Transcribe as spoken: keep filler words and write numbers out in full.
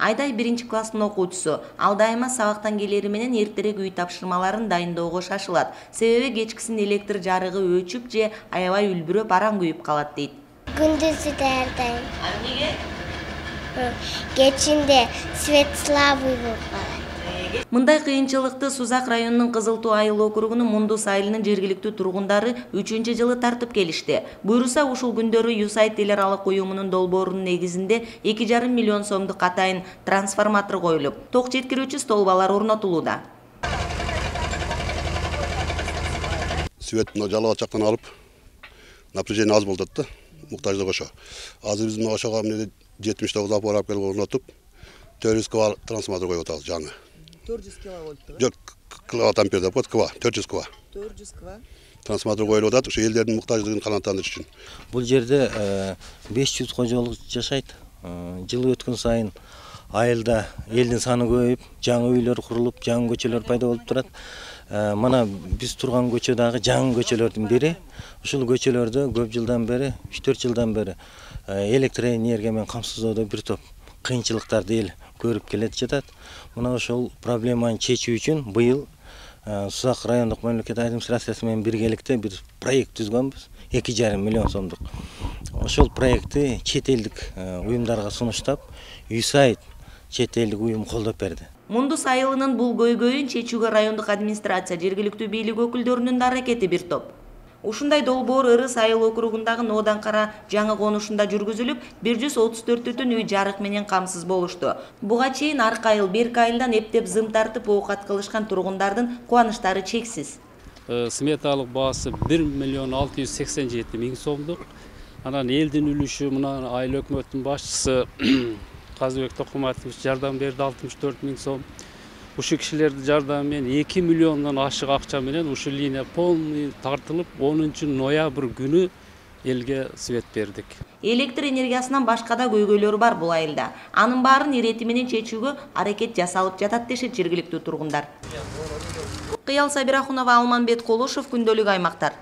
Айдай биринчи класстын окуучусу. Ал дайыма сабактан келери менен эртерээк үй тапшырмаларын дайындоого шашылат. Себеби кечкисин электр жарыгы өчүп же аябай үлбүрөп араң күйүп калат дейт. Күндүзү даярдайм. А эмнеге? Кечинде свет слабый болуп калат. Мындай кыйынчылыкты Сузак районунун Кызыл Туу айыл округунун Мундус айылынын жергиликтүү тургундары үчүнчү жылы тартып келишти. Буйруса ушул күндөрү Юсайт эл аралык уюмунун долбоорунун негизинде эки жарым миллион сомдук атайын трансформатор коюлуп, ток жеткирүүчү столбалар орнотулууда. Свет жалгыз жактан алып, напряжение аз болду да, муктаждык ошо. Азыр биз ошого жетимиш тогуз аппарат алып келип орнотуп, төрт жүз киловатт трансформатор коюп атабыз жаңы. төрт жүз киловольтту. Жок, киловатт ампер деп коет, ква, төрт жүз ква. төрт жүз ква. Трансформатор коюлуп атат, ошо элдердин муктаждыгын канааттандырыш үчүн. Бул жерде беш жүз кожолук жашайт. Жыл өткөн сайын айылда элдин саны көбөйүп, жаңы үйлөр курулуп, жаңы көчөлөр пайда болуп турат. Мана биз турган көчө дагы жаңы көчөлөрдүн бири. Ушул көчөлөрдө көп жылдан бери, үч төрт жылдан бери электр энергия менен камсыздоодо бир топ кыйынчылыктарды эл көрүп келет жатат. Мына ошол проблеманы чечүү үчүн быйыл Сузак райондук мамлекеттик администрациясы менен биргеликте бир проект түзгөнбүз. эки жарым миллион сомдук. Ошол проектти чет элдик уюмдарга сунуштап, Юсайт чет элдик уюм колдоп берди. Мундус айылынын бул көйгөйүн чечүүгө райондук администрация, жергиликтүү бийлик өкүлдөрүнүн да аракети бир топ. Ушундай долбоор Ырыс айыл округундагы Ноодан Кара жаңы конушунда жүргүзүлүп, бир жүз отуз төрт бүтүн үй жарык менен камсыз болушту. Буга чейин аркы айыл, берки айылдан эптеп зым тартып оокат кылышкан тургундардын кубанычтары чексиз. Сметалык баасы бир миллион алты жүз сексен жети миң сомдук. Анан элдин үлүшү мына айыл өкмөттүн башчысы Казыбек Токуматович жардам берди алтымыш төрт миң сом. Ушул кишилердин жардамы менен эки миллиондон ашык акча менен ушул линия полный тартылып, онунчу ноябрь күнү элге свет бердик. Электр энергиясынан башка да көйгөйлөр бар бул айылда. Анын баарын ирети менен чечүүгө аракет жасалып жатат дешет жергиликтүү тургундар. Кыял Сабирахунова, Алманбет Колушев, Күндөлүк аймактар.